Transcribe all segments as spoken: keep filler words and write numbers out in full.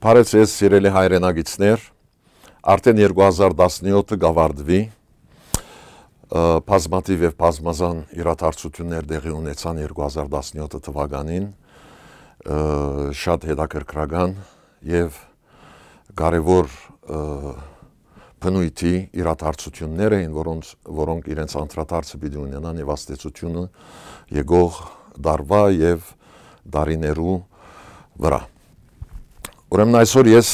Բարեւ ձեզ, սիրելի հայրենակիցներ, արդեն երկու հազար տասնեօթը կ'աւարտուի, ը, բազմաթիւ եւ բազմազան իրադարձութիւններ տեղի ունեցան երկու հազար տասնեօթ թուականին, ը, շատ հետաքրքրական եւ կարեւոր, ը, բնոյթի իրադարձութիւններ էին, որոնց, որոնք իրենց անդրադարձը պիտի ունենան եւ ազդեցութիւնը եկող տարուայ եւ տարիներու վրայ։ Ուրեմն այսօր ես,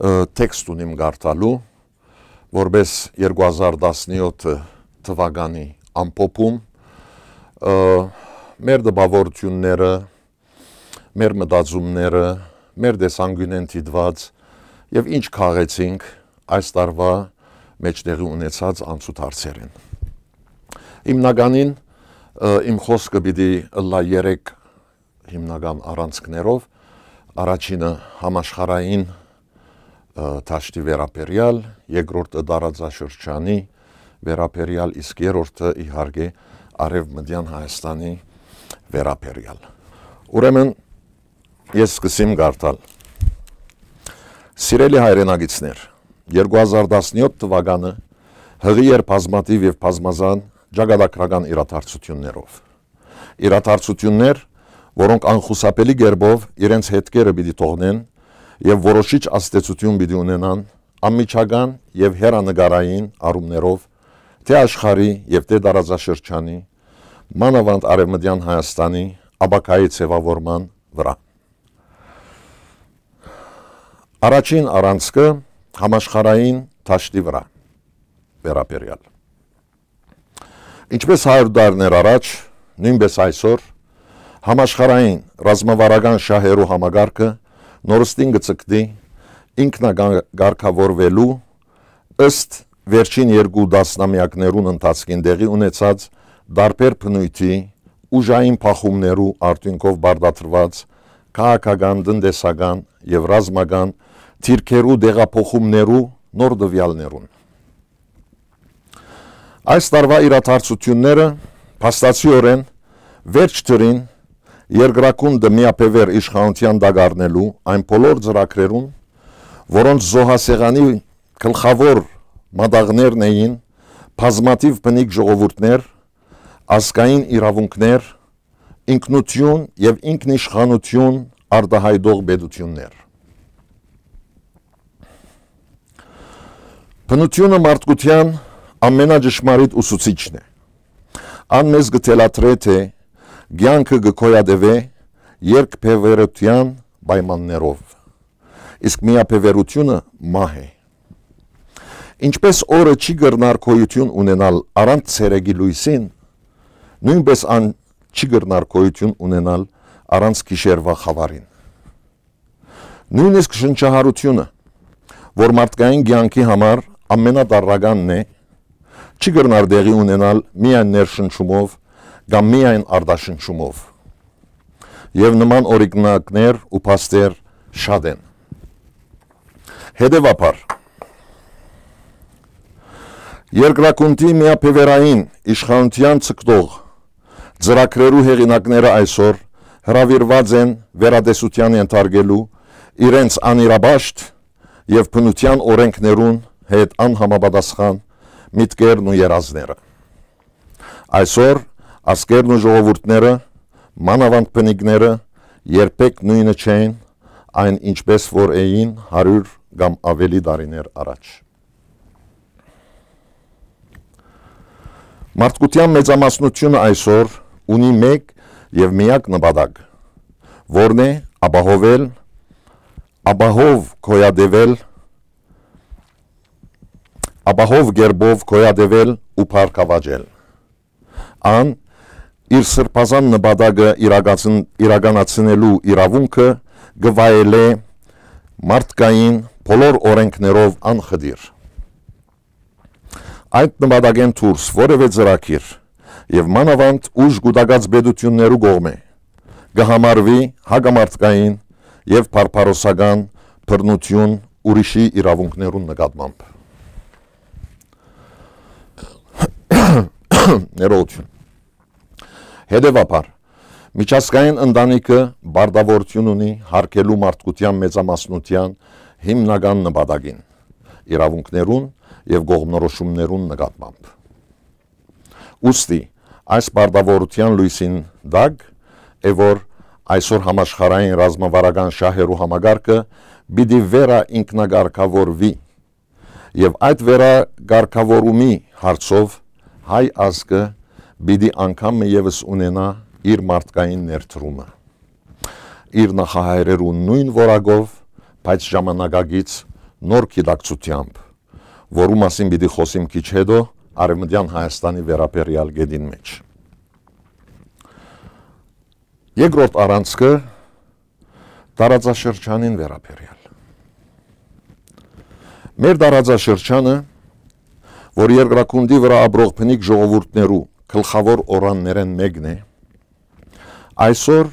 ը, տեքստ ունիմ կարդալու, որպէս երկու հազար տասնեօթ թուականի ամփոփում, ը, մեր տպաւորութիւնները, մեր մտածումները, մեր տեսանկիւնէն դիտուած եւ ինչ քաղեցինք այս տարուայ մէջ տեղի ունեցած անցուդարձերէն։ Հիմնականին, ը, իմ խօսքը պիտի ըլլայ երեք հիմնական առանցքներով։ Առաջինը համաշխարհային, ը, դաշտի վերաբերեալ, երկրորդը տարածաշրջանի վերաբերեալ, իսկ երրորդը իհարկե Արեւմտեան Հայաստանի վերաբերեալ։ Ուրեմն ես սկսեմ կարդալ։ Սիրելի հայրենակիցներ, երկու հազար տասնեօթ թուականը յղի էր բազմաթիւ եւ բազմազան ճակատագրական իրադարձութիւններով։ Իրադարձութիւններ, որոնք անխուսափելի կերպով իրենց հետքերը պիտի թողնեն եւ որոշիչ ազդեցութիւն պիտի ունենան անմիջական եւ հեռանկարային առումներով թէ աշխարհի եւ թէ տարածաշրջանի, մանաւանդ Արեւմտեան Հայաստանի ապագայի ձեւաւորման վրայ։ Առաջին առանցքը համաշխարհային դաշտի վրայ վերաբերեալ։ Ինչպէս հարիւր տարիներ առաջ, նոյնպէս այսօր, համաշխարհային ռազմավարական շահերու համակարգը նորստին կը ձգտի ինքնակարգաւորուելու ըստ վերջին երկու տասնամեակներուն ընթացքին տեղի ունեցած տարբեր բնոյթի ուժային բախումներու արդիւնքով պարտադրուած քաղաքական, տնտեսական եւ ռազմական դիրքերու տեղափոխումներու նոր տուեալներուն։ Այս տարուայ իրադարձութիւնները փաստացիօրէն վերջ դրին երկրագունդը միաբեւեռ իշխանութեան տակ առնելու այն բոլոր ծրագրերուն, որոնց զոհասեղանի գլխաւոր մատաղներն էին բազմաթիւ բնիկ ժողովուրդներ, ազգային իրաւունքներ, ինքնութիւն եւ ինքնիշխանութիւն արտայայտող պետութիւններ։ Բնութիւնը մարդկութեան ամենաճշմարիտ ուսուցիչն է։ Ան մեզ կը թելադրէ, թէ կեանքը կը գոյատեւէ երկբեւեռութեան պայմաններով, իսկ միաբեւեռութիւնը մահ է։ Ինչպէս օրը չի կրնար գոյութիւն ունենալ առանց ցերեկի լոյսին, նոյնպէս ան չի կրնար գոյութիւն ունենալ առանց գիշերուայ խաւարին։ Նոյնիսկ շնչահարութիւնը, որ մարդկային կեանքի համար ամենատարրականն է, չի կրնար տեղի ունենալ միայն ներշնչումով կամ միայն արտաշնչումով։ Եւ նման օրինակներ ու փաստեր շատ են։ Հետեւաբար, երկրագունդի միաբեւեռային իշխանութեան ձգտող ծրագրերու հեղինակները այսօր հրաւիրուած են վերատեսութեան ենթարկելու իրենց անիրապաշտ եւ բնութեան օրէնքներուն հետ անհամապատասխան միտքերն ու երազները։ Այսօր ազգերն ու ժողովուրդները, մանաւանդ բնիկները, երբեք նոյնը չեն, այն ինչպէս որ էին հարիւր կամ աւելի տարիներ առաջ։ Մարդկութեան մեծամասնութիւնը այսօր ունի մէկ եւ միակ նպատակ, որն է ապահովել, ապահով գոյատեւել, ապահով կերպով գոյատեւել ու բարգաւաճել։ Ան իր սրբազան նպատակը իրակացն-, իրականացնելու իրաւունքը կը վայելէ մարդկային բոլոր օրէնքներով անխտիր։ Այդ նպատակէն դուրս որեւէ ծրագիր եւ մանաւանդ ուժ կուտակած պետութիւններու կողմէ կը համարուի հակամարտկային եւ բարբարոսական բռնութիւն ուրիշի իրաւունքներուն նկատմամբ։ Ներողություն։ Հետեւաբար, Միջազգային ընտանիքը պարտաւորութիւն ունի յարգելու մարդկութեան մեծամասնութեան հիմնական նպատակին, իրաւունքներուն եւ կողմնորոշումներուն նկատմամբ։ Ուստի այս պարտաւորութեան լոյսին տակ է, որ այսօր համաշխարհային ռազմավարական շահերու համակարգը պիտի վերաինքնակարգաւորուի, եւ այդ վերակարգաւորումի հարցով հայ ազգը պիտի անգամ մը եւս ունենայ իր մարդկային ներդրումը, իր նախահայրերու նոյն որակով, բայց ժամանակակից նոր գիտակցութեամբ, որու մասին պիտի խօսիմ քիչ հետո Արեւմտեան Հայաստանի վերաբերեալ կետին մէջ։ Երկրորդ առանցքը՝ տարածաշրջանին վերաբերեալ։ Մեր տարածաշրջանը, որ երկրագունդի վրայ ապրող բնիկ ժողովուրդներու գլխաւոր օրրաններէն մէկն է, այսօր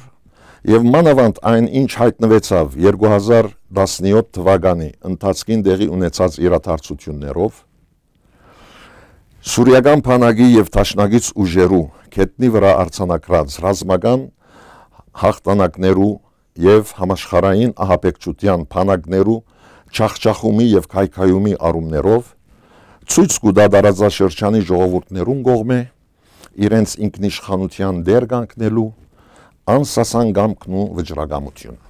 եւ մանաւանդ այն, ինչ յայտնուեցաւ երկու հազար տասնեօթ թուականի ընթացքին տեղի ունեցած իրադարձութիւններով, սուրիական բանակի եւ դաշնակից ուժերու գետնի վրայ արձանագրած ռազմական յաղթանակներու եւ համաշխարհային ահաբեկչութեան բանակներու ջախջախումի եւ քայքայումի առումներով, ցոյց կու տայ տարածաշրջանի ժողովուրդներուն կողմէ իրենց ինքնիշխանութեան տեր կանգնելու անսասան կամքն ու վճռակամութիւնը։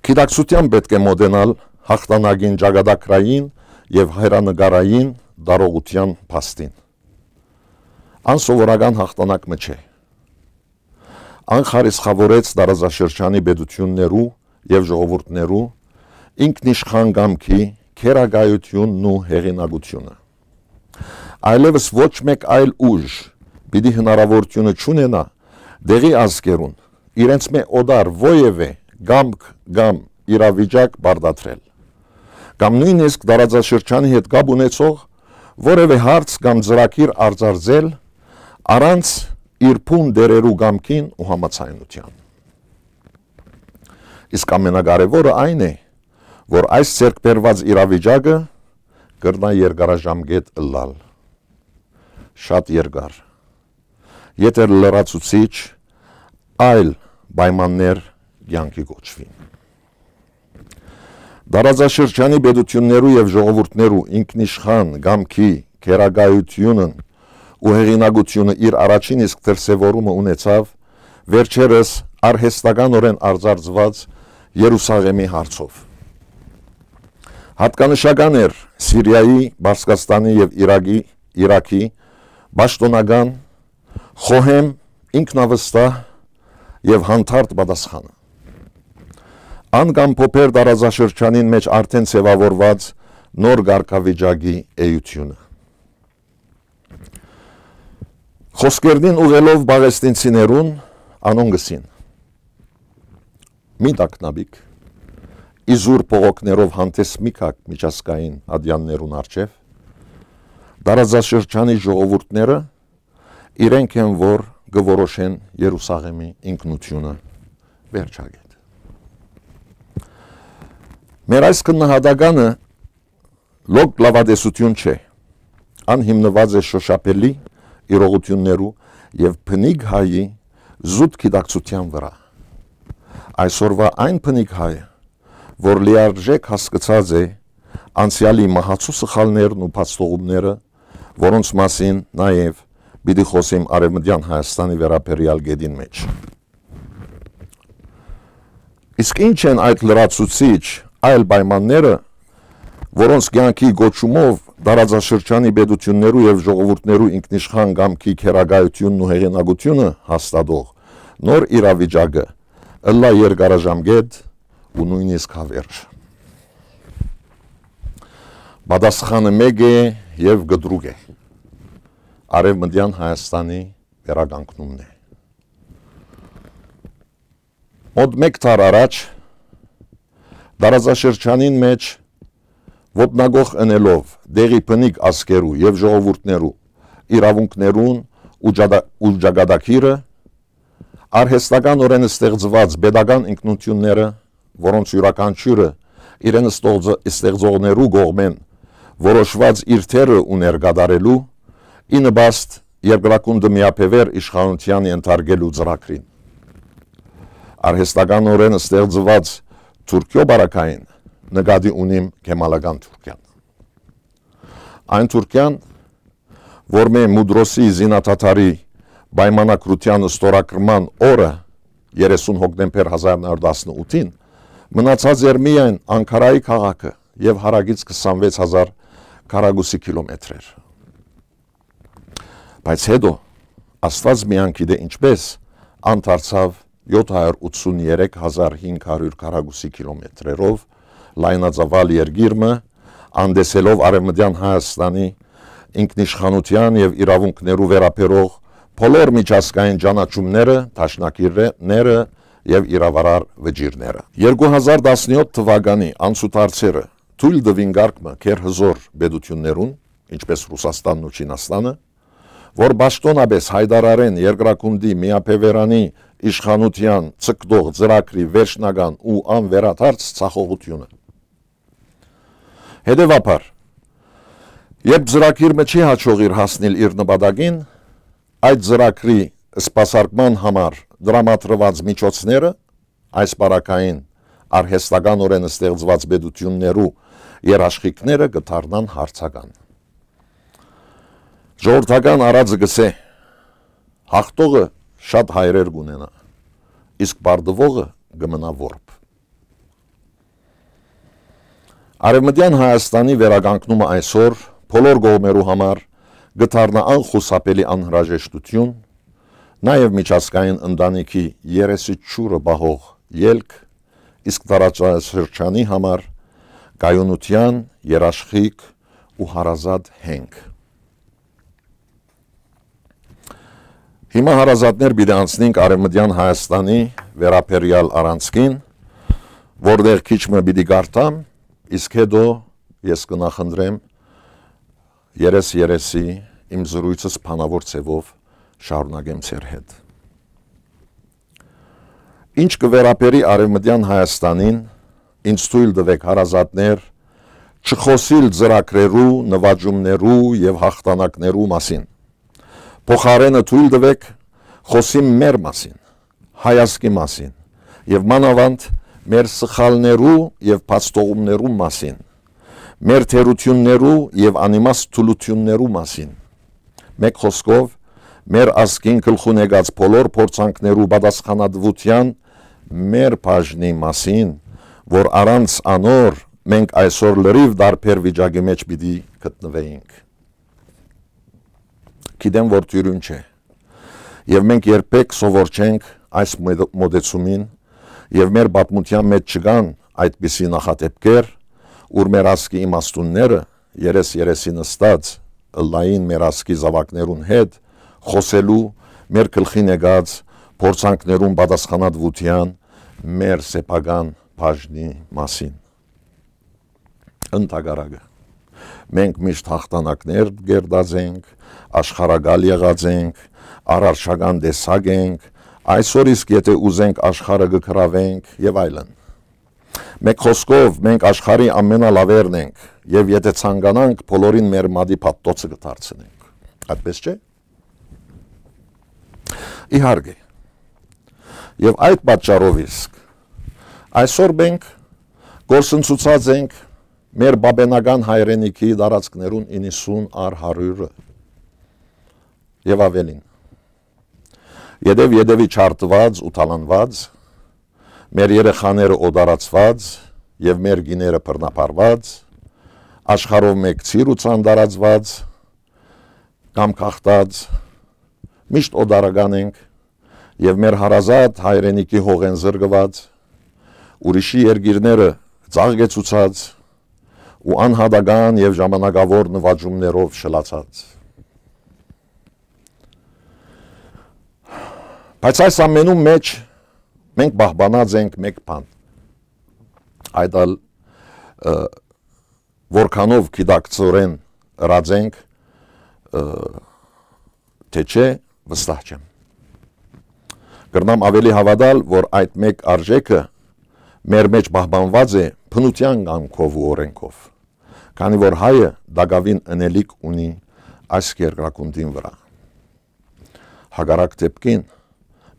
Գիտակցութեան պէտք է մօտենալ յաղթանակին ճակատագրային եւ հայրենակարային տարողութեան փաստին։ Անսովորական յաղթանակ մը չէ։ Ան խարիսխաւորեց տարածաշրջանի պետութիւններու եւ ժողովուրդներու ինքնիշխան կամքի գերակայութիւնն ու հեղինակութիւնը։ Այլեւս ոչ մէկ այլ ուժ պիտի հնարաւորութիւնը չունենայ տեղի ազգերուն իրենցմէ օտար որեւէ կամք կամ իրավիճակ պարտադրել, կամ նոյնիսկ տարածաշրջանի հետ կապ ունեցող որեւէ հարց կամ ծրագիր արծարծել առանց իր բուն տէրերու կամքին ու համաձայնութեան։ Իսկ ամենակարեւորը այն է, որ այս ձեռք բերուած իրավիճակը կրնայ երկարաժամկետ ըլլալ, շատ երկար, եթէ լրացուցիչ այլ պայմաններ կեանքի կոչուին։ Տարածաշրջանի պետութիւններու եւ ժողովուրդներու ինքնիշխան կամքի գերակայութիւնն ու հեղինակութիւնը իր առաջին իսկ դրսեւորումը ունեցաւ վերջերս արհեստականօրէն արծարծուած Երուսաղէմի հարցով։ Յատկանշական էր Սիրիայի, Պարսկաստանի եւ Իրաքի, Իրաքի պաշտօնական, խոհեմ, ինքնավստահ եւ հանդարտ պատասխանը։ Ան կ'ամփոփէր տարածաշրջանին մէջ արդէն ձեւաւորուած նոր կարգավիճակի էութիւնը։ Խօսքերնին ուղղելով պաղեստինցիներուն, անոնք ըսին. «Մի տագնապիք, իզուր բողոքներով հանդէս մի գաք միջազգային ատեաններուն առջեւ, տարածաշրջանի ժողովուրդները իրենք են, որ կը որոշեն Երուսաղէմի ինքնութիւնը», վերջակետ։ Մեր այս գնահատականը լոկ լաւատեսութիւն չէ։ Ան հիմնուած է շոշափելի իրողութիւններու եւ բնիկ հայի զուտ գիտակցութեան վրայ։ Այսօրուայ այն բնիկ հայը, որ լիարժէք հասկցած է անցեալի մահացու սխալներն ու բացթողումները, որոնց մասին նաեւ պիտի խօսիմ Արեւմտեան Հայաստանի վերաբերեալ կետին մէջ։ Իսկ ի՞նչ են այդ լրացուցիչ այլ պայմանները, որոնց կեանքի կոչումով տարածաշրջանի պետութիւններու եւ ժողովուրդներու ինքնիշխան կամքի գերակայութիւնն ու հեղինակութիւնը հաստատող նոր իրավիճակը ըլլայ երկարաժամկետ ու նոյնիսկ հավերժ։ Պատասխանը մէկ է եւ կտրուկ է. Արեւմտեան Հայաստանի վերականգնումն է։ Մոտ մէկ դար առաջ տարածաշրջանին մէջ ոտնակոխ ընելով տեղի բնիկ ազգերու եւ ժողովուրդներու իրաւունքներուն ու ճակատագիրը, արհեստականօրէն ստեղծուած պետական ինքնութիւնները, որոնց իւրաքանչիւրը իրեն ստեղծողներու կողմէն որոշուած իր թերը ուներ կատարելու, ի նպաստ երկրագունդը միաբեւեռ իշխանութեան ենթարկելու ծրագրին։ Արհեստականօրէն ստեղծուած Թուրքիոյ պարագային նկատի ունիմ Քեմալական Թուրքիան։ Այն Թուրքիան, որ մէ Մուդրոսի զինադադարի պայմանագրութեան ստորագրման օրը, երեսուն հոկտեմբեր հազար նոր տասնութին, մնացած էր միայն Անկարայի քաղաքը եւ հարակից քսանվեց հազար քառակուսի կիլոմետրեր։ Բայց հետո, Աստուած միան գիտէ ինչպէս, ան դարձաւ յոթ հարյուր ութսուն երեք հազար հինգ հարյուր քառակուսի կիլոմետրերով լայնածաւալ երկիր մը, անտեսելով Արեւմտեան Հայաստանի ինքնիշխանութեան եւ իրաւունքներու վերաբերող բոլոր միջազգային ճանաչումները, դաշնակիրները եւ իրավարար վճիռները։ Երկու հազար տասնյոթ թվականի անցուդարձերը թոյլ տուին կարգ մը գերհզօր պետութիւններուն, ինչպէս Ռուսաստանն ու Չինաստանը, որ պաշտօնապէս յայտարարեն երկրագունդի միաբեւեռանի իշխանութեան ձգտող ծրագրի վերջնական ու անվերադարձ ձախողութիւնը։ Հետեւաբար, երբ ծրագիր մը չի յաջողիր հասնիլ իր նպատակին, այդ ծրագրի սպասարկման համար տրամադրուած միջոցները այս պարագային արհեստականօրէն ստեղծուած պետութիւններու երաշխիքները կը դառնան հարցական։ Ժողովրդական արածը կ'ըսէ. «Հաղթողը շատ հայրեր կ'ունենայ, իսկ պարտուողը կը մնայ որբ»։ Արեւմտեան Հայաստանի վերականգնումը այսօր բոլոր կողմերու համար կը դառնայ անխուսափելի անհրաժեշտութիւն, նաեւ միջազգային ընտանիքի երեսի ջուրը պահող ելք, իսկ տարածաշրջանի համար կայունութեան երաշխիք ու հարազատ հենք։ Հիմա, հարազատներ, պիտի անցնենք Արեւմտեան Հայաստանի վերաբերեալ առանցքին, որտեղ քիչ մը պիտի կարդամ, իսկ հետո ես կը նախընտրեմ երես-երեսի իմ զրույցս բանաւոր ձեւով շարունակեմ ձեր հետ։ Ինչ կը վերաբերի Արեւմտեան Հայաստանին, ինձ թոյլ տուէք, հարազատներ, չխօսիլ ծրագրերու, նուաճումներու եւ յաղթանակներու մասին։ Փոխարէնը թոյլ տուէք, խօսիմ մեր մասին, հայազգի մասին եւ մանաւանդ մեր սխալներու եւ բացթողումներու մասին, մեր թերութիւններու եւ անիմաստ թուլութիւններու մասին։ Մէկ խօսքով, մեր ազգին գլխուն եկած բոլոր փորձանքներու պատասխանատուութեան մեր բաժնի մասին, որ առանց անոր մենք այսօր լրիվ տարբեր վիճակի մէջ պիտի գտնուէինք։ Գիտեմ, որ դիւրին չէ։ Եւ մենք երբեք սովոր չենք այս մոտ-, մոտեցումին, եւ մեր պատմութեան մէջ չկան այդպիսի նախադեպքեր, ուր մեր ազգի իմաստունները երես-երեսի նստած ըլլային մեր ազգի զաւակներուն հետ, խօսելու մեր գլխին եկած փորձանքներուն պատասխանատուութեան մեր սեփական բաժնի մասին։ Ընդհակառակը, մենք միշտ յաղթանակներ կերտած ենք, աշխարհակալ եղած ենք, արարչական տեսակ ենք, այսօր իսկ, եթե ուզենք, աշխարհը կը գրաւենք եւ այլն։ Մէկ խօսքով, մենք աշխարհի ամենալաւերն ենք եւ, եթե ցանկանանք, բոլորին մեր մատի փաթթոցը կը դարձնենք։ Այդպես չէ՞։ Իհարկե։ Եւ այդ պատճառով իսկ այսօր մենք կորսնցուցած ենք մեր պապենական հայրենիքի տարածքներուն իննսուն առ հարիւրը եւ ավելին։ Ետեւ-ետեւի ջարդուած ու թալանուած, մեր երեխաները օտարացուած եւ մեր կիները բռնաբարուած, աշխարհով մէկ ցիր ու ցան տարածուած կամ գաղթած, միշտ օտարական ենք եւ մեր հարազատ հայրենիքի հողէն զրկուած, ուրիշի երկիրները ծաղկեցուցած ու անհատական եւ ժամանակաւոր նուաճումներով շլացած։ Բայց այս ամենում մէջ մենք պահպանած ենք մէկ բան։ Այդ ալ, ը, որքանով գիտակցորեն ըրած ենք, ը, թե չէ, վստահ չեմ։ Կրնամ ավելի հաւատալ, որ այդ մէկ արժէքը մեր մէջ պահպանուած է բնութեան կամքով ու օրէնքով, քանի որ հայը տակաւին ընելիք ունի այս երկրագունդին վրայ։ Հակառակ դեպքին,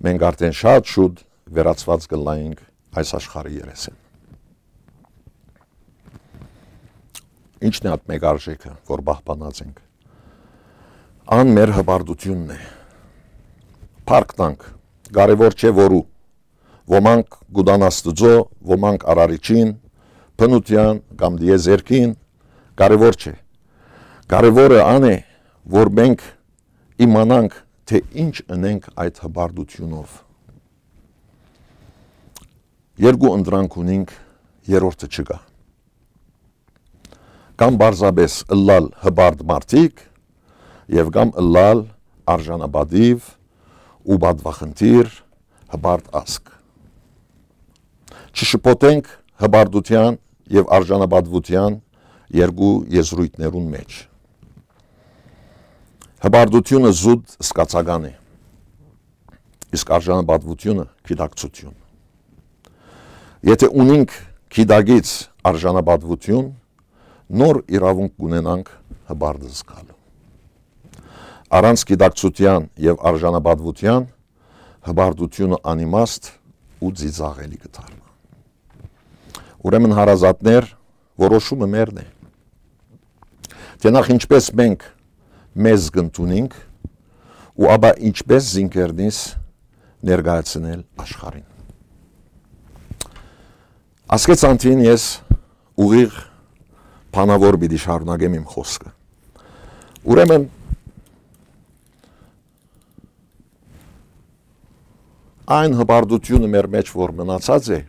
մենք արդեն շատ շուտ վերածուած կ'ըլլայինք այս աշխարհի երեսէն։ Ի՞նչն է այդ մէկ արժէքը, որ պահպանած ենք։ Ան մեր հպարտութիւնն է։ Փառք տանք, կարեւոր չէ որու։ Ոմանք կ'ուտան Աստուծոյ, ոմանք Արարիչին, բնութեան կամ տիեզերքին, կարեւոր չէ։ Կարեւորը ան է, որ մենք իմանանք, թէ ինչ ընենք այդ հպարտութիւնով։ Երկու ընտրանք ունինք, երրորդը չկայ։ Կամ պարզապէս ըլլալ հպարտ մարդիկ եւ կամ ըլլալ արժանապատիւ ու պատուախնդիր հպարտ ազգ։ Չշփոթենք հպարտութեան եւ արժանապատուութեան երկու եզրոյթներուն մէջ։ Հպարտութիւնը զուտ զգացական է, իսկ արժանապատուութիւնը՝ գիտակցութիւն։ Եթէ ունինք գիտակից արժանապատուութիւն, նոր իրաւունք կ'ունենանք հպարտ զգալու։ Առանց գիտակցութեան եւ արժանապատուութեան հպարտութիւնը անիմաստ ու ծիծաղելի կը դառնայ։ Ուրեմն, հարազատներ, որոշումը մերն է, թէ նախ ինչպէս մենք մեզ կ'ընդունինք ու ապա ինչպէս զինքերնիս ներկայացնել աշխարհին։ Ասկէ ցանցին ես ուղիղ բանաւոր պիտի շարունակեմ իմ խօսքը։ Ուրեմն, այն հպարտութիւնը մեր մէջ որ մնացած է,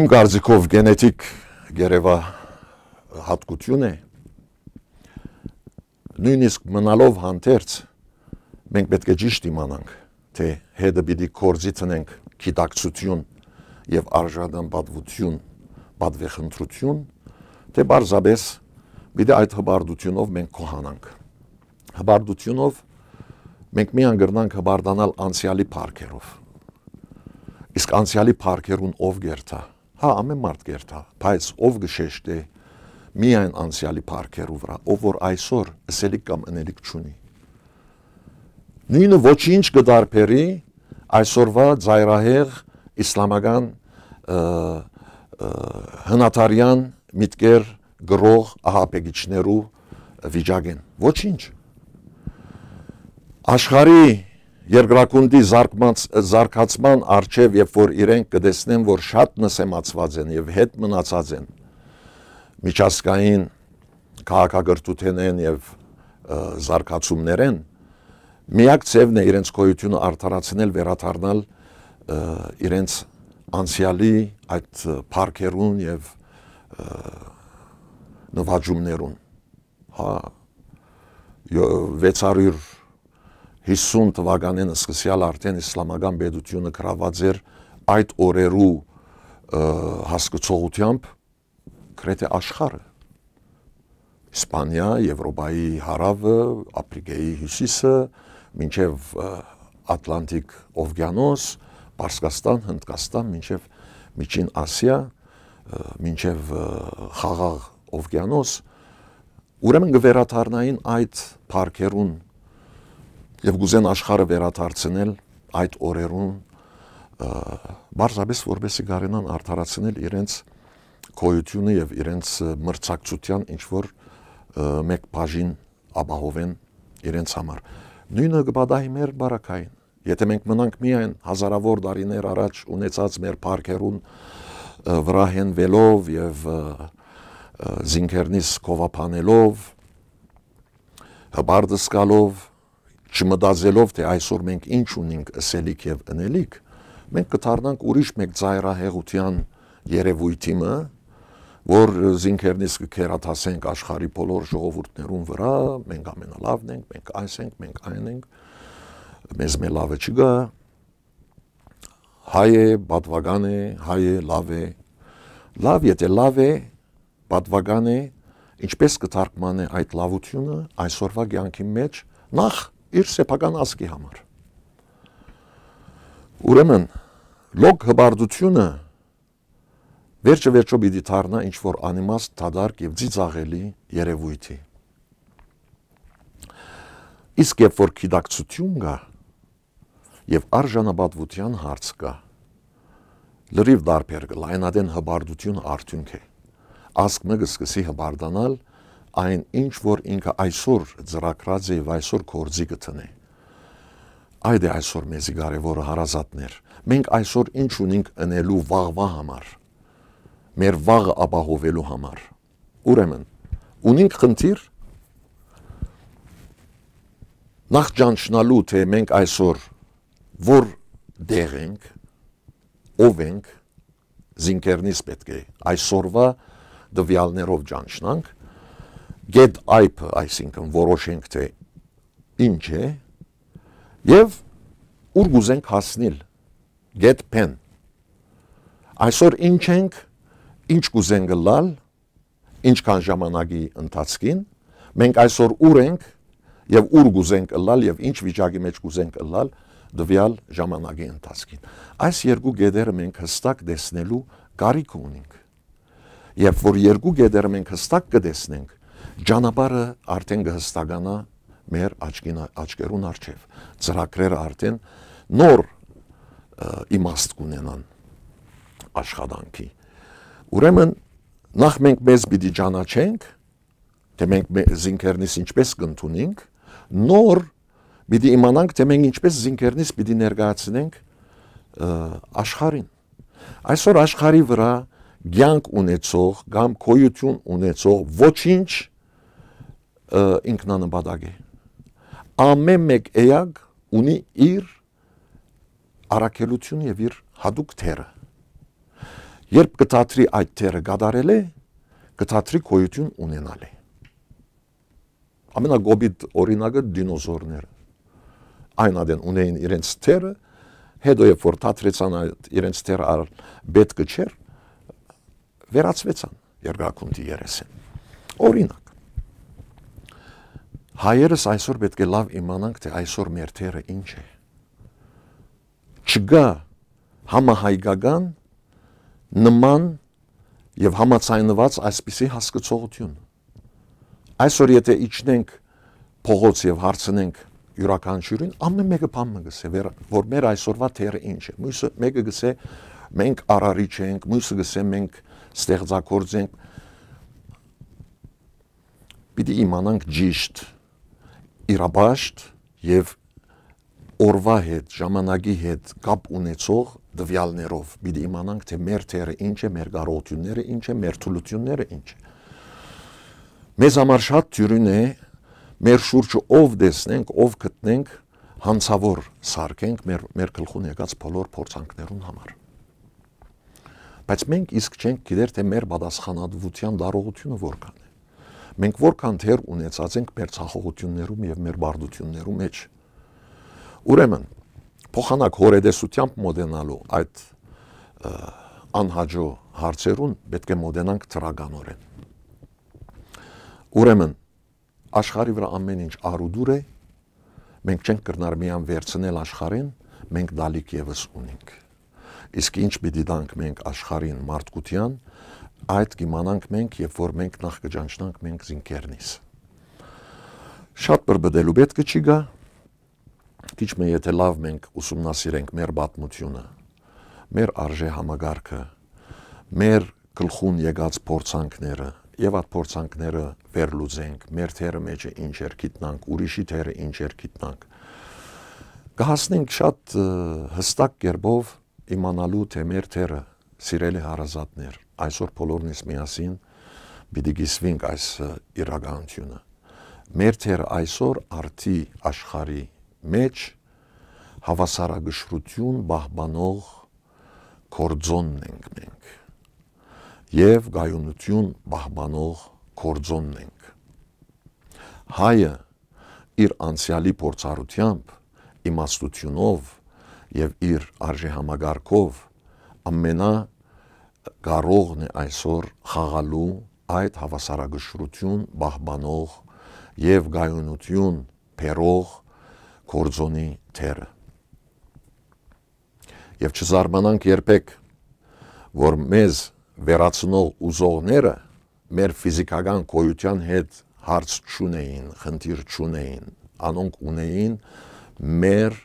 իմ կարծիքով, կենետիկ գերեւա յատկութիւն է, նոյնիսկ մնալով հանդերձ, մենք պէտք է ճիշտ իմանանք, թէ հետը պիտի գործի դնենք գիտակցութիւն եւ արժանապատուութիւն, պատվեխնդրութիւն, թէ պարզապէս պիտի այդ հպարտութիւնով մենք գոհանանք։ Հպարտութիւնով մենք միայն կրնանք հպարտանալ անցեալի փառքերով։ Իսկ անցեալի փառքերուն ով կ'երթայ։ Հա, ամէն մարդ կ'երթայ, բայց ով կը շեշտէ միայն անցեալի փառքերու վրայ, ով որ այսօր ըսելիք կամ ընելիք չունի։ Նոյնը ոչինչ կը տարբերի այսօրվա ծայրահեղ իսլամական, ը, ը, հնադարեան միտքեր կրող ահաբեկիչներու վիճակէն։ Ոչինչ։ Աշխարհի երկրագունդի զարգ-, զարգացման առջեւ, երբ որ իրենք կը տեսնեն, որ շատ նսեմացված են եւ հետ մնացած են միջազգային քաղաքակրթութենէն եւ, ը, զարգացումներէն, միակ ձեւն է իրենց գոյութիւնը արդարացնել, վերադառնալ, ը, իրենց անցեալի այդ, ը, փառքերուն եւ, ը, նուաճումներուն։ Հա, յո-, վեց հարիւր յիսուն թուականէն սկսեալ արդէն իսլամական պետութիւնը գրաւած էր այդ օրերու, ը, հասկցողութեամբ գրեթէ աշխարհը։ Իսպանիա, Եվրոպայի հարաւը, Ափրիկայի հիւսիսը, մինչեւ, ը, Ատլանտիկ ովկիանոս, Պարսկաստան, Հնդկաստան, մինչեւ Միջին Ասիա, ը, մինչեւ, ը, Խաղաղ ովկիանոս, ուրեմն կը վերադառնային այդ փառքերուն եւ կ'ուզեն աշխարհը վերադարձնել այդ օրերուն, ը, պարզապէս որպեսզի կարենան արդարացնել իրենց գոյութիւնը եւ իրենց, ը, մրցակցութեան ինչ որ, ը, մէկ բաժին ապահովեն իրենց համար։ Նոյնը կը պատահի մեր բարակային։ Եթէ մենք մնանք միայն հազարաւոր տարիներ առաջ ունեցած մեր փառքերուն, ը, վրայ հենուելով եւ, ը, ը, զինքերնիս գովաբանելով, հպարտ զգալով, չմտածելով, թէ այսօր մենք ինչ ունինք ըսելիք եւ ընելիք, մենք կը դառնանք ուրիշ մէկ ծայրահեղութեան երեւոյթի մը, որ զինքերնիս կը գերադասենք աշխարհի բոլոր ժողովուրդներուն վրայ, մենք ամենալավն ենք, մենք այս ենք, մենք այն ենք, մեզ մէ լավը չկայ, հայ է, պատուական է, հայ է, լաւ է։ Լաւ, եթէ լաւ է, պատուական է, ինչպէս կը թարգմանէ այդ լաւութիւնը այսօրվա կեանքի մէջ, նախ իր սեփական ազգի համար։ Ուրեմն, լոկ հպարտութիւնը վերջը վերջոյ պիտի դառնայ ինչ որ անիմաստ, դատարկ եւ ծիծաղելի երեւոյթի։ Իսկ երբ որ գիտակցութիւն կայ եւ արժանապատուութեան հարց կայ, լրիւ տարբեր կ'ըլլայ, այն ատեն հպարտութիւն արդիւնք է։ Ազգ մը կը սկսի հպարտանալ այն ինչ որ ինքը այսօր ծրագրած է եւ այսօր գործի կը դնէ։ Այդ է այսօր մեզի կարեւորը, հարազատներ։ Մենք այսօր ինչ ունինք ընելու վաղվա համար, մեր վաղը ապահովելու համար։ Ուրեմն, ունինք խնդիր նախ ճանչնալու, թե մենք այսօր որ դեղ ենք, ով ենք, զինքերնից պէտք է այսօրվա տվեալներով ճանչնանք, գետ այբը, այսինքն որոշենք, թե ինչ է, եւ ուր կ'ուզենք հասնիլ, գետ պեն։ Այսօր ինչ ենք, ինչ կ'ուզենք ըլլալ, ինչքան ժամանակի ընթացքին, մենք այսօր ուր ենք եւ ուր կ'ուզենք ըլլալ եւ ինչ վիճակի մեջ կ'ուզենք ըլլալ տվեալ ժամանակի ընթացքին։ Այս երկու գետերը մենք հստակ տեսնելու կարիքը ունենք։ Երբ որ երկու գետերը մենք հստակ կը տեսնենք, ճանապարհը արդեն կը հստականայ մեր աչքին, աչքերուն առջեւ, ծրագրերը արդեն նոր, ը, իմաստ կ'ունենան աշխատանքի։ Ուրեմն, նախ մենք մեզ պիտի ճանաչենք, թե մենք մե-, զինքերնից ինչպես կ'ընդունենք, նոր պիտի իմանանք, թե մենք ինչպես զինքերնից պիտի ներկայացնենք, ը, աշխարհին։ Այսօր աշխարհի վրայ կեանք ունեցող կամ գոյութիւն ունեցող ոչինչ, ը, ինքնանպատակ է։ Ամէն մէկ էակ ունի իր առաքելութիւնը եւ իր յատուկ դերը։ Երբ կը դադրի այդ դերը կատարելէ, կը դադրի գոյութիւն ունենալէ։ Ամենակոպիտ օրինակը դինոզորները։ Այն ատեն ունէին իրենց դերը, հետո երբ որ դադրեցան այդ իրենց դերը ալ պետքը չէր, վերածուեցան երկրագունդի երեսին։ Օրինակ, հայերս այսօր պէտք է լաւ իմանանք, թե այսօր մեր դերը ինչ է։ Չկայ համահայկական նման եւ համաձայնուած այսպիսի հասկցողութիւն։ Այսօր եթե իջնենք փողոց եւ հարցնենք իւրաքանչիւրին, ամէն մէկը բան մը կ'ըսէ, վեր-, որ մեր այսօրվա դերը ինչ է։ Մոյսը մէկը կ'ըսէ, մենք արարիչ ենք, մոյսը կ'ըսէ, մենք ստեղծագործ ենք։ Պիտի իմանանք ճիշտ իրապաշտ եւ օրվա հետ, ժամանակի հետ կապ ունեցող տվեալներով, պիտի իմանանք, թե մեր դերը ինչ է, մեր կարողութիւնները ինչ է, մեր թուլութիւնները ինչ է։ Մեզ համար շատ դիւրին է մեր շուրջը ով տեսնենք, ով գտնենք, յանցաւոր սարքենք մեր, մեր գլխուն եկած բոլոր փորձանքներուն համար։ Բայց մենք իսկ չենք գիտեր, թե մեր պատասխանատվութեան տարողութիւնը որքան է։ Մենք որքան դեր ունեցած ենք մեր ցախողութիւններում եւ մեր բարդութիւններու մեջ։ Ուրեմն, փոխանակ հորետեսությամբ մոտենալու այդ, ը, անհաճոյ հարցերուն պէտք է մոտենանք դրականօրէն։ Ուրեմն, աշխարհի վրայ ամէն ինչ արուդուր է, մենք չենք կրնար միայն վերցնել աշխարհէն, մենք տալիք եւս ունինք։ Իսկ ինչ պիտի տանք մենք աշխարհին, մարդկութեան, այդ կիմանանք մենք, երբ որ մենք նախ կճանչնանք մենք զինքերնից։ Շատ բրբտելու պէտքը չի գայ, քիչ մը եթե լաւ մենք ուսումնասիրենք մեր պատմութիւնը, մեր արժեհամակարգը, մեր գլխուն եկած փորձանքները, եւ այդ փորձանքները վերլուծենք, մեր դերը մեջը ինչ էր, գիտնանք, ուրիշի դերը ինչ էր, գիտնանք, կհասնենք շատ, ը, հստակ կերպով իմանալու, թե մեր դերը, սիրելի հարազատներ, այսօր բոլորնիս միասին պիտի կիսվենք այս, ը, իրականութիւնը։ Մեր դերը այսօր արդի աշխարհի մեջ հավասարակշռութիւն պահպանող գործոնն ենք մենք եւ կայունութիւն պահպանող գործոնն ենք։ Հայը իր անցեալի փորձառութեամբ, իմաստութիւնով եւ իր արժեհամակարգով ամենա կարողն է այսօր խաղալու այդ հավասարակշռութիւն պահպանող եւ կայունութիւն բերող գործոնի դերը։ Եւ չզարմանանք երբեք, որ մեզ վերացնող ուզողները մեր ֆիզիկական գոյութեան հետ հարց չունէին, խնդիր չունէին, անոնք ունէին մեր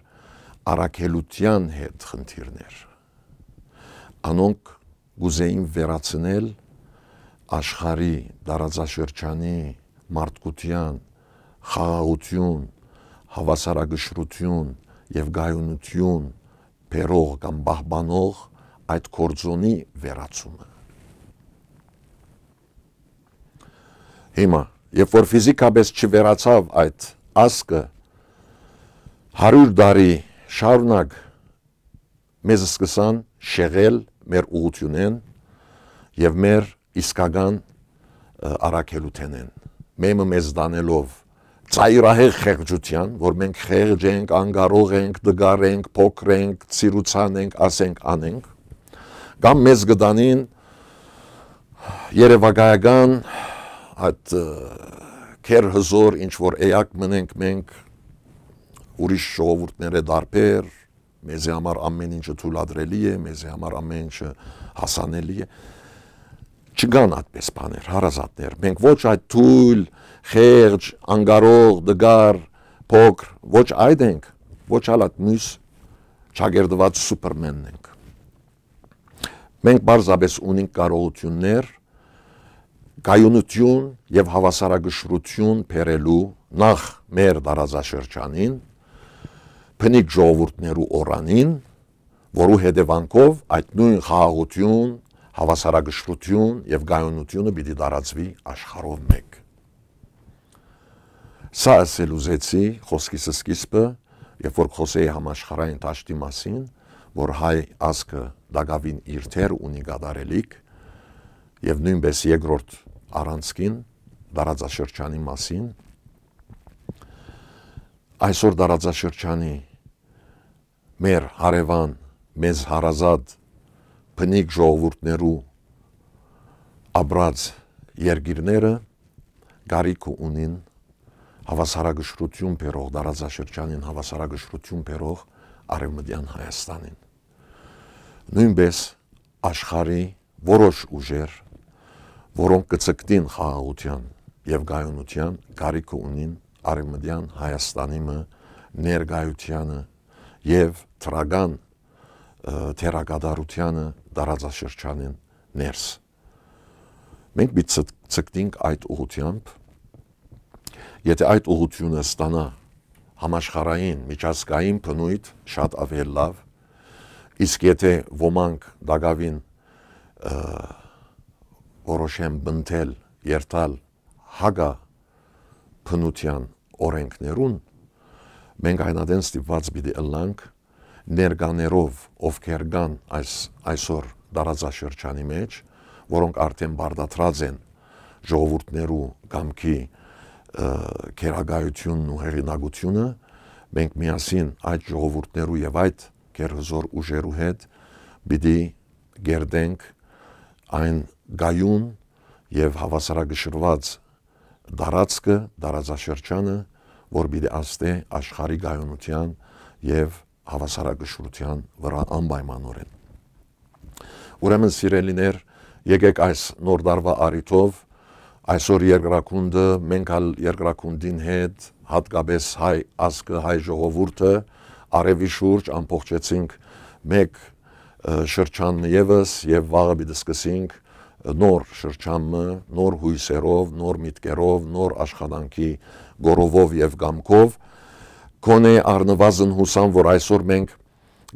առաքելութեան հետ խնդիրներ։ Անոնք կ'ուզէին վերացնել աշխարհի, տարածաշրջանի, մարդկութեան, խաղաղութիւն, հաւասարակշռութիւն եւ կայունութիւն բերող կամ պահպանող այդ գործոնի վերացումը։ Հիմա, երբ որ ֆիզիկապես չվերացաւ այդ ազգը, հարիւր տարի շարունակ մեզ սկսան շեղել մեր ուղղութիւնէն եւ մեր իսկական, ը, առաքելութենէն։ Մեմը մեզ տանելով ծայրահեղ խեղճութեան, որ մենք խեղճ ենք, անկարող ենք, տկար ենք, փոքր ենք, ցիրուցան ենք, ասենք, անենք, կամ մեզ կը տանին երեւակայական այդ, ը, քեր հզոր ինչ որ էակ մնենք մենք, ուրիշ ժողովուրդներէ տարբեր, մեզի համար ամեն ինչը թույլատրելի է, մեզի համար ամեն ինչը հասանելի է։ Չկան այդպես բաներ, հարազատներ։ Մենք ոչ այդ թույլ, խեղճ, անկարող, տկար, փոքր, ոչ այդ ենք, ոչ ալ այդ մյուս չակերտուած սուպերմենն ենք։ Մենք պարզապես ունենք կարողութիւններ կայունութիւն եւ հաւասարակշռութիւն բերելու նախ մեր տարածաշրջանին, բնիկ ժողովուրդներու օրանին, որու հետեւանքով այդ նոյն խաղաղութիւն, հաւասարակշռութիւն եւ կայունութիւնը պիտի տարածուի աշխարհով մէկ։ Սա ասել ուզեցի խօսքիս սկիզբը, երբ որ կ'խօսէի համաշխարհային դաշտի մասին, որ հայ ազգը տակաւին իր դեր ունի կատարելիք, եւ նոյնպէս երկրորդ առանցքին, տարածաշրջանի մասին։ Այսօր տարածաշրջանի մեր հարեւան, մեզ հարազատ բնիկ ժողովուրդներու ապրած երկիրները կարիքը ունին հաւասարակշռութիւն բերող, տարածաշրջանին հաւասարակշռութիւն բերող Արեւմտեան Հայաստանին։ Նոյնպէս աշխարհի որոշ ուժեր, որոնք կը ձգտին խաղաղութեան եւ կայունութեան, կարիքը ունին Արեւմտեան Հայաստանի մը ներկայութեանը եւ դրական, ը, դերակատարութեանը տարածաշրջանին ներս։ Մենք պիտի ձգ-, ձգտենք այդ ուղղութեամբ, եթե այդ ուղղութիւնը ստանայ համաշխարհային, միջազգային բնոյթ, շատ աւելի լաւ, իսկ եթե ոմանք տակաւին, ը, որոշեն պնդել, երթալ հակա բնութեան օրենքներուն, մենք այն ատեն ստիպուած պիտի ըլլանք ներկաներով, ովքեր կան այս, այսօր տարածաշրջանի մեջ, որոնք արդեն պարտադրած են ժողովուրդներու կամքի, ը, գերակայութիւնն ու հեղինակութիւնը, մենք միասին այդ ժողովուրդներու եւ այդ գերհզոր ուժերու հետ պիտի կերտենք այն կայուն եւ հաւասարակշռուած տարածքը, տարածաշրջանը, որ պիտի ազդէ աշխարհի կայունութեան եւ հաւասարակշռութեան վրայ անպայմանօրէն։ Ուրեմն, սիրելիներ, եկեք այս նոր տարուայ առիթով այսօր երկրագունդը, մենք ալ երկրագունդին հետ, յատկապես հայ ազգը, հայ ժողովուրդը, արեւի շուրջ ամբողջեցինք մէկ, ը, շրջան մը եւս եւ վաղը պիտի սկսենք նոր շրջան մը, նոր յոյսերով, նոր միտքերով, նոր աշխատանքի գորովով եւ կամքով։ Գոնե առնուազն յուսամ, որ այսօր մենք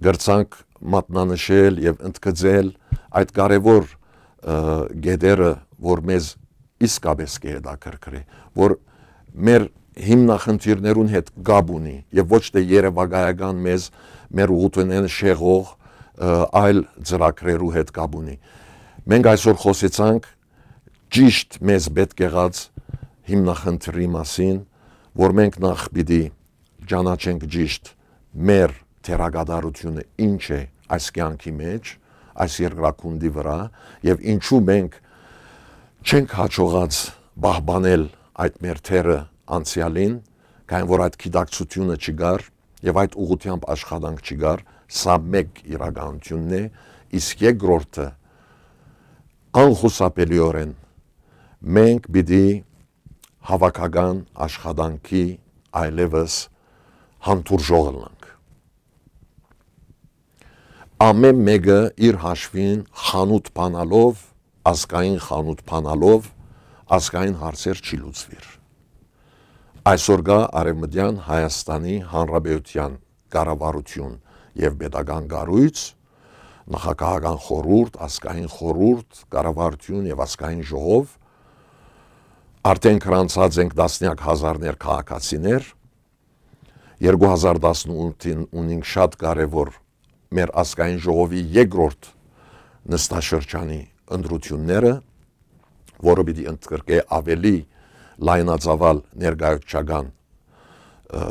կրցանք մատնանշել եւ ընդգծել այդ կարեւոր, ը, գետերը, որ մեզ իսկապես կը հետաքրքրի, որ մեր հիմնախնդիրներուն հետ կապ ունի եւ ոչ թե երեւակայական մեզ, մեր ուղղութիւնեն շեղող, ը, այլ ծրագրերու հետ կապ ունի։ Մենք այսօր խօսեցանք ճիշդ մեզ պետք եղած հիմնախնդրի մասին, որ մենք նախ պիտի ճանաչենք ճիշդ մեր դերակատարութիւնը ինչ է այս կեանքի մեջ, այս երկրագունդի վրայ, եւ ինչու մենք չենք յաջողած պահպանել այդ մեր դերը անցեալին, քանի որ այդ գիտակցութիւնը չկար եւ այդ ուղղութեամբ աշխատանք չկար, սա մէկ իրականութիւնն է, իսկ երկրորդը, անխուսափելիօրէն մենք պիտի հաւաքական աշխատանքի այլեւս հանդուրժող ըլլանք։ Ամէն մէկը իր հաշուին խանութ բանալով, ազգային խանութ բանալով, ազգային հարցեր չի լուծուիր։ Այսօր կայ Արեւմտեան Հայաստանի Հանրապետութեան կառավարութիւն եւ պետական կառոյց, նախագահական խորհուրդ, ազգային խորհուրդ, կառավարութիւն եւ ազգային ժողով, արդէն գրանցած ենք տասնեակ հազարներ քաղաքացիներ, երկու հազար տասնութին ունինք շատ կարեւոր մեր ազգային ժողովի երկրորդ նստաշրջանի ընտրութիւնները, որը պիտի ընդգրկէ աւելի լայնածաւալ ներկայացուցչական, ը,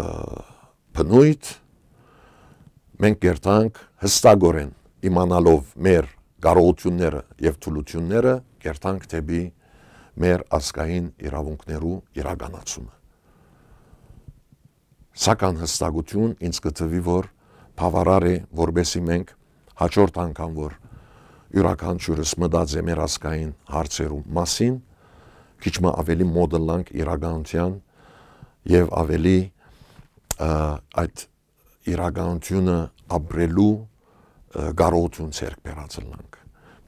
բնոյթ, մենք կերտանք հստակորեն իմանալով մեր կարողութիւնները եւ թուլութիւնները, կերտանք դէպի մեր ազգային իրաւունքներու իրականացումը։ Սակայն հստակութիւն ինձ կը թուի, որ բաւարար է, որպեսզի մենք հաջորդ անգամ, որ իւրաքանչիւրս մտած է մեր ազգային հարցերու մասին, քիչ մը աւելի մօտ ըլլանք իրականութեան եւ աւելի, ը, այդ իրականութիւնը ապրելու, ը, կարողութիւն ձեռք բերած ըլլանք։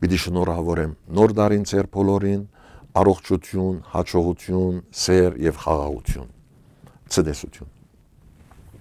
Պիտի շնորհաւորեմ Նոր տարին ձեր բոլորին, առողջութիւն, յաջողութիւն, սէր եւ խաղաղութիւն։ Ցտեսութիւն։